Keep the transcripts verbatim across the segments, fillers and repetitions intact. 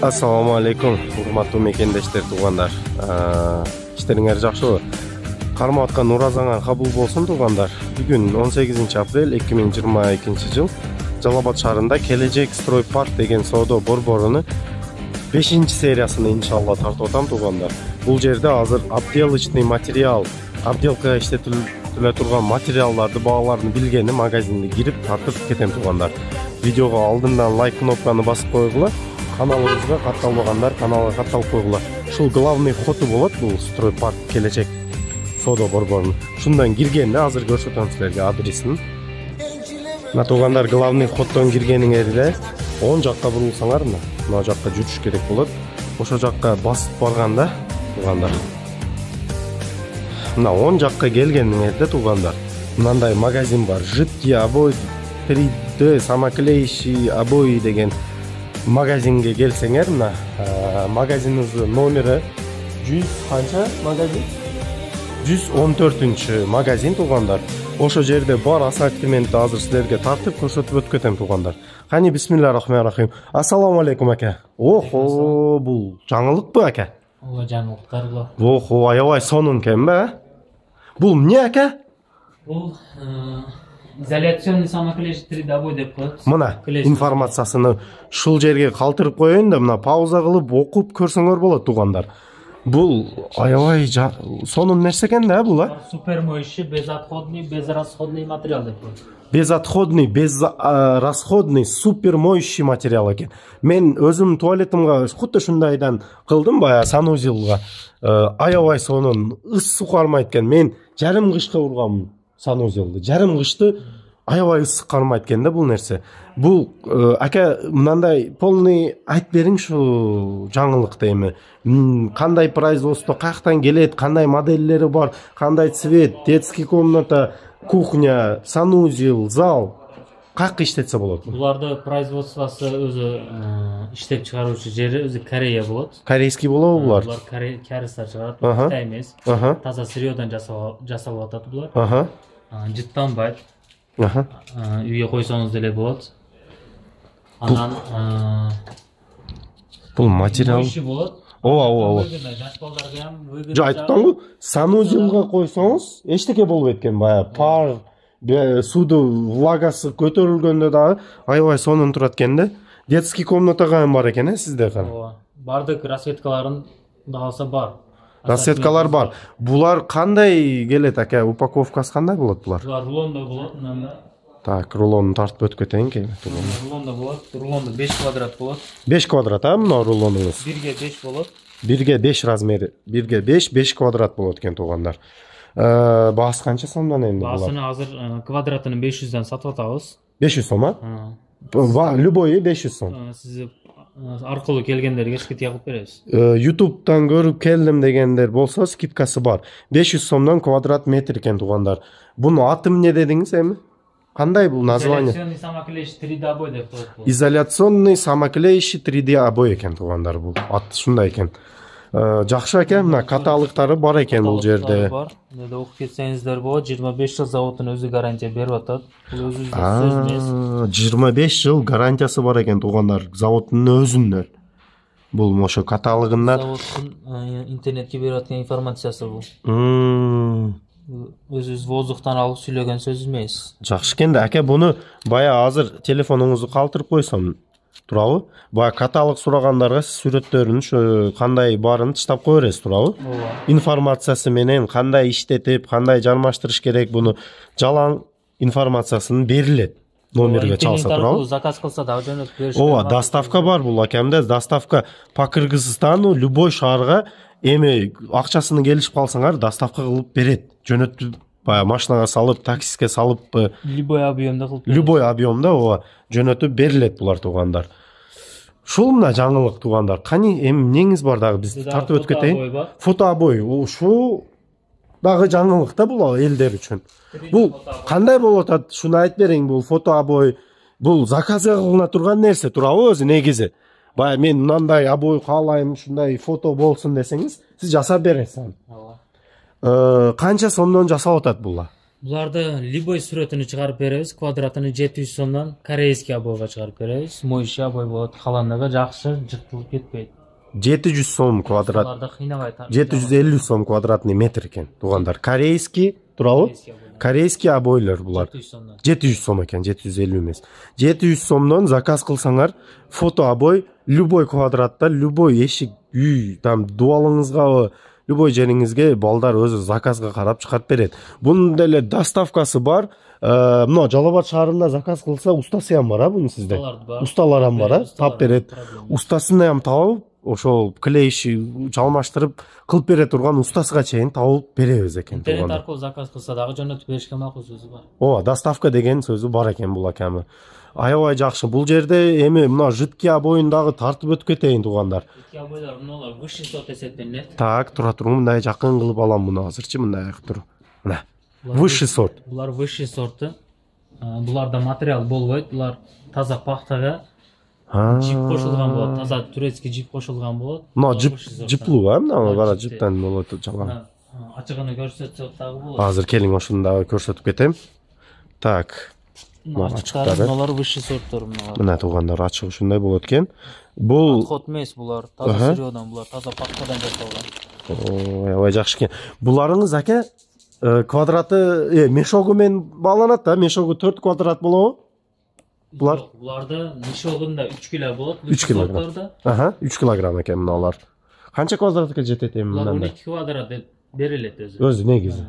Assalamu alaikum, урматтуу мекендештер, туугандар. Иштериңер жакшыбы? Кармап аткан уразаңар кабыл болсун, туугандар. Бүгүн он сегизинчи апрель эки миң жыйырма экинчи жыл Жалал Абад шаарында Келечек строй парк деген соода борборунун бешинчи сериясыны иншалла тартып атам, туугандар. Бул жерде азыр обделочный материал, обделкага иштетиле турган материалдарды, бааларын билгени магазинге кирип тартып кетем, туугандар. Видеого алдындан лайк кнопканы басып койгула. Каналыбызга катталбагандар каналга катталып койгула. Ушул главный входу болот, бул строй парк Келечек соода борборунун. Шундан киргенде азыр көрсөтөм силерге адресин. Мына туугандар, главный входдон киргениңерде оң жакка бурулсаңар, мына мына жакка жүрүш керек болот. Ошол жакка басып барганда, туугандар, мына оң жакка келгениңерде, туугандар, мындай магазин бар. Жидкий обои, три дэ самоклеящий обои деген магазинге келсеңер, мына магазинибиздин номери жүз канча магазин? жүз он төртүнчү магазин, туугандар. Ошо жерде бар ассортиментти азыр силерге тартып көрсөтүп өтүп кетем, туугандар. Кани бисмиллахир-рахманир-рахим. Ассаламу алейкум, ака. Охо, бул жаңылыкпы, ака? Ооба, жаңылыктар бул. Охо, аябай сонун экен бе? Бул эмне, ака? Бул изоляционный самоклеящий три дэ обой деп коет. Мына информациясыны ушул жерге калтырып коеюн да, мына пауза кылып окуп көрсөңөр болот, туугандар. Бул аябай сонун нерсе экен да, бул, а? Супер моющий, безотходный, безрасходный материал деп коет. Безотходный, безрасходный, супер моющий материал экен. Мен өзүм туалетимге хутта ушундайдан кылдым, баягы санузелга. Аябай сонун, ыс суу кармайт экен. Мен жарым кышка ургам санузелди. Жарым кышты аябай ысык кармайт экен да бул нерсе. Бул ака мындай полный айтып бериң ушу жаңылыкты эми. Кандай производство, каяктан келет, кандай моделлери бар, кандай цвет, детский комната, кухня, санузел, зал каяка иштетсе болот? Буларды производствосу өзү иштеп чыгаруучу жери өзү Корея болот. Корейский болобу булар? Булар корейцтер чыгарат, Кытай эмес. Таза сырьёдан жасалып атат булар. Аха. Жыттанбайт. Аха. Үйгө койсоңуз деле болот. Анан бул материал болот. Ооба, ооба. Жаш балдарга ham выгодно. Жо айттыңбы? Санузелга койсоңуз эчтеке болбойт экен, баягы пар, сууду влагасы көтөрүлгөндө дагы аябай сонун турат экен да. Детский комнатага ham бар экен, э, сизде кара. Ооба. Бардык расветкаларын да алса бар. Расветкалар бар. Булар кандай келет, ака? Упаковкасы кандай болот булар? Булар рулондо болот, мында. Так, рулонду тартып өтүп кетейин ки. Рулондо болот. Рулондо беш квадрат болот. беш квадрат, а, мына рулонуңуз? бирге беш болот. бирге беш размери. бирге беш, беш квадрат болот экен, туугандар. Баасы канча сомдон эмне булар? Баасыны азыр квадратын беш жүздөн сатып атабыз. беш жүз сом, а? Любой беш жүз сом. Сиз аркылуу келгендерге скидка кылып беребиз. YouTube'дан көрүп келдим дегендер болсо скидкасы бар. беш жүз сомдон квадрат метр экен, туугандар. Буну аты эмне дедиңиз эми? Кандай бул название? Изоляционный самоклеящий три дэ обой деп коет бул. Изоляционный самоклеящий три дэ обой экен, туугандар, бул. Аты ушундай экен. Жакшы экен, мына каталыктары бар экен бул жерде. Мында окуп кетсеңиздер болот, жыйырма беш жыл заводдун өзү гарантия берип атат. Бул өзүбүздүн сөз эмес. жыйырма беш жыл гарантиясы бар экен, туугандар, заводдун өзүнөн. Бул ошо каталыгында заводдун интернетке берип аткан информациясы бул. Өзүбүз воздухтан алып сүйлөгөн сөз эмес. Жакшы экен да, ака, буну баягы азыр телефонуңузду калтырып койсом турабы? Баягы каталог сурагандарга сүрөттөрүн ушу кандай барын таштап кое бересиз, турабы? Ооба. Информациясы менен кандай иштетип, кандай жармаштырыш керек, буну жалаң информациясын берилет. Номерге чалса, турабы? Заказ кылса да жөнөтүп беришет. Ооба, доставка бар бул, акамда. Доставка по Кыргызстану любой шаарга эми акчасыны келишип калсаңар, доставка кылып берет. Жөнөтүп, баягы машинага салып, таксиске салып, любой объемда кылып берет. Любой объемда ооба жөнөтүп берилет булар, туугандар. Ушул мына жаңылык, туугандар. Кани эми эмнеңиз бар дагы биз тартып өтүп кетейин. Фото обой. Ушул дагы жаңылык да бул элдер үчүн. Бул кандай болуп атат? Шуну айтып бериң, бул фото обой. Бул заказга кылына турган нерсе, турабы өзү негизи? Баягы мен мындай обой каалайм, ушундай фото болсун десеңиз, сиз жасап бересиз аны. Канча сомдон жасалып атат бул? Буларды любой сүрөтүнү чыгарып беребиз. Квадратыны жети жүз сомдон корейский обойго чыгарып беребиз. Моющий обой болот. Каландыгы жакшы, жыртылып кетпейт. жети жүз сом квадрат. Аларды кыйнабай. жети жүз элүү сом квадратный метр экен, туугандар. Корейский, туурабы? Корейский обойлор булар. жети жүз сом экен, жети жүз элүү эмес. жети жүз сомдон заказ кылсаңар, фото обой любой квадратта, любой эшик, үй, там дуалыңызга, любой жериңизге балдар өзү заказга карап чыгарып берет. Бунун деле доставкасы бар. Мына Жалал Абад шаарында заказ кылса, устасы ham бар, а бунун сизде? Усталар ham бар, а? Тап берет. Устасын ham табып, ошол клейши жалмаштырып кылып бере турган устасыга чейин табылып беребиз экен. Интернет аркылуу заказ кылса дагы жөнөтүп беришке макул сөзү бар. Ооба, доставка деген сөзү бар экен бул акамы. Аябай жакшы. Бул жерде эми мына жидкий обоюн дагы тартып өтүп кетейин, туугандар. Жидкий обойлор мыналар высший сорт эсептелинет. Так, тура туруң, мындай жакын кылып алам муну азырчы, мындай тур. Мына. Высший сорт. Булар высший сорты. Буларда материал болбойт. Булар таза пахтага жип кошулган болот. Таза турецкий жип кошулган болот. Мына жип жиплуу, а? Мына бара жиптен болот жалаң. Ачыгыны көрсөтсөк дагы болот. Азыр келиң ошуну дагы көрсөтүп кетем. Так. Ачыктары булар высший сорттор мыналар. Мына туугандар, ачык ушундай болот экен. Бул отход эмес булар, таза сырьёдан, булар таза пахтадан жасалган. Аябай жакшы экен. Буларыңыз ака квадраты мешогу менен бааланат да, мешогу төрт квадрат болобу? Булар буларда мешогунда үч кило болот, үч килограмм. Аха, үч килограмм экен мыналар. Канча квадратка жетет эми мындай? он эки квадрат деп берилет өзү. Өзү негизи.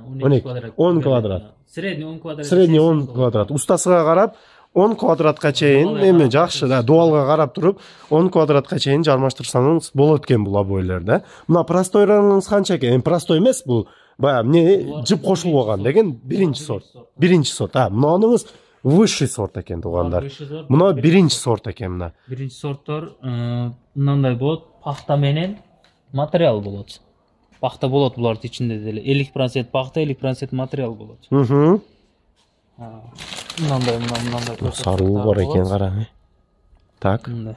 он квадрат. Средний он квадрат. Средний он квадрат. Устасыга карап он квадратка чейин эми жакшы да, дуалга карап туруп он квадратка чейин жармаштырсаңыз болот экен бул обойлор да. Мына простойлоруңуз канча экен? Эми простой эмес бул. Бая эмне жип кошулган деген биринчи сорт. Биринчи сорт. А, мынаныңыз высший сорт экен туугандар. Мына биринчи сорт экен мына. Биринчи сорттор мындай болот, пахта менен материал болот. Пахта болот булардын ичинде деле. элүү процент пахта, элүү процент материал болот. Мхм. Мындай, мындай. Саруу бар экен, кара. Так. Мындай.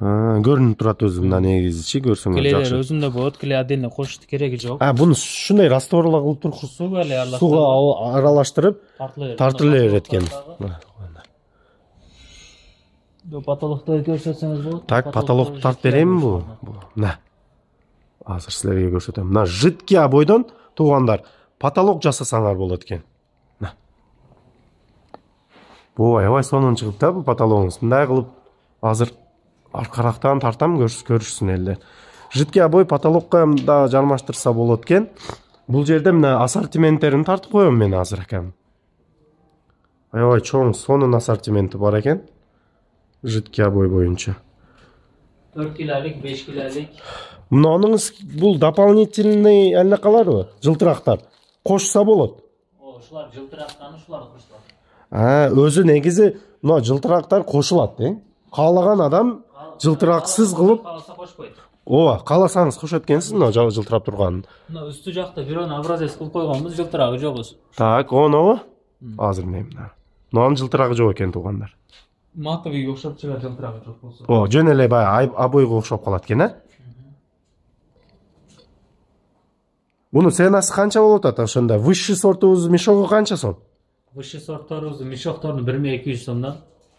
Көрүнүп турат өзү мына негизичи, көрсөңүз жакшы. Клейлер өзүндө болот, клей отдельно кошуштун кереги жок. А, буну ушундай растворла кылып турушсу, суга эле аралаштырып, суга аралаштырып тартылып берет экен. Потолокто көрсөтсөңүз болот. Так, потолокту тартып берейинби бу? Мына. Азыр силерге көрсөтөм. Мына жидкий обойдон туугандар потолок жасасаңар болот экен. Мына. Бу аябай сонун чыгып да бу потологуңуз. Мындай кылып азыр аркарактан тартам, көрүшсүн элдер. Жидкий обой потолокко да жармаштырса болот экен. Бул жерде мына ассортименттерин тартып коем мен азыр акам. Аябай чоң, сонун ассортименти бар экен. Жидкий обой боюнча. төрт килолик, беш килолик. Мынаныңыз бул дополнительный элне каларбы? Жылтырактар. Кошса болот. О, ушулар жылтырактан ушулар кошулат. А, өзү негизи мына жылтырактар кошулат, э? Каалаган адам жылтыраксыз кылып кааласа кошпойт. Ооба, кааласаңыз кошот экенсиз мына жылтырап турганын. Мына үстү жакта бирөөнү образец кылып койгонбуз, жылтырагы жок. Так, онобу? Азыр мен мына. Мынанын жылтырагы жок экен туугандар. Матовыйга окшоп чыгар, жылтырагы жок болсо. О, жөн эле баягы обойго окшоп калат экен, а? Буну ценасы канча болот ата ошондо? Высший сортубуз мешогу канча сом? Высший сортторубуз мешокторду бир миң эки жүз сомдон.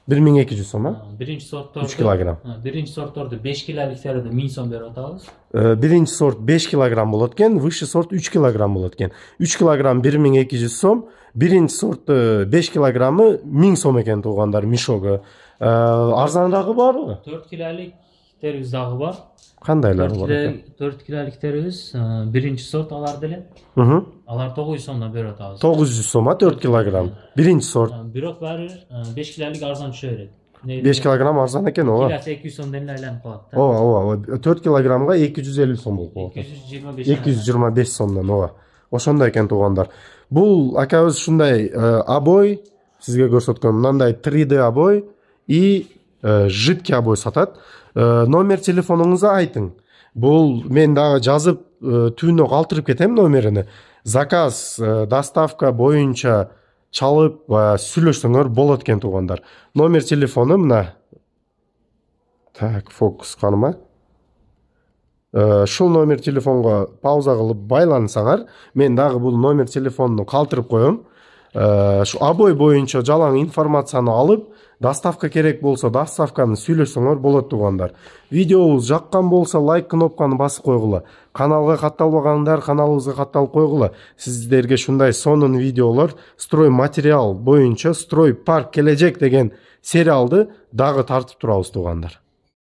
бир миң эки жүз сом, а? Биринчи сортторду үч килограмм. Биринчи сортторду беш килоликтерди миң сом берип атабыз. Биринчи сорт беш килограмм болот экен, высший сорт үч килограмм болот экен. үч килограмм бир миң эки жүз сом, биринчи сорт беш килограммы миң сом экен туугандар мешогу. Арзанрагы барбы? төрт килоликтерибиз дагы бар. Кандайлары бар экен? төрт килоликтерибиз биринчи сорт алар деле. Алар тогуз жүз сомдон берип атабыз. тогуз жүз сом, а төрт килограмм. Биринчи сорт. Бирок баары беш килолик арзан түшө берет. беш килограмм арзан экен, ооба. Килосы эки жүз сомдон эле айланып калат да. Ооба, ооба. төрт килограммга эки жүз элүү сом болуп калат. эки жүз жыйырма беш. эки жүз жыйырма беш сомдон, ооба. Ошондой экен туугандар. Бул акабыз ушундай обой сизге көрсөткөн мындай три дэ обой и жидкий обой сатат. Номер телефонуңузду айтың. Бул мен дагы жазып түнү калтырып кетем номерини. Заказ, доставка боюнча чалып сүйлөшсөңөр болот экен туугандар. Номер телефону мына. Так, фокус каныма. ушул номер телефонго пауза кылып байлансаңар, мен дагы бул номер телефонду калтырып коем. Ушу обой боюнча жалаң информацияны алып, доставка керек болсо доставканы сүйлөшсөңөр болот туугандар. Видеобуз жаккан болсо лайк кнопканы басып койгула. Каналга катталбагандар каналыбызга катталып койгула. Сиздерге шундай сонун видеолор строй материал боюнча строй парк кележек деген сериалды дагы тартып турабыз туугандар.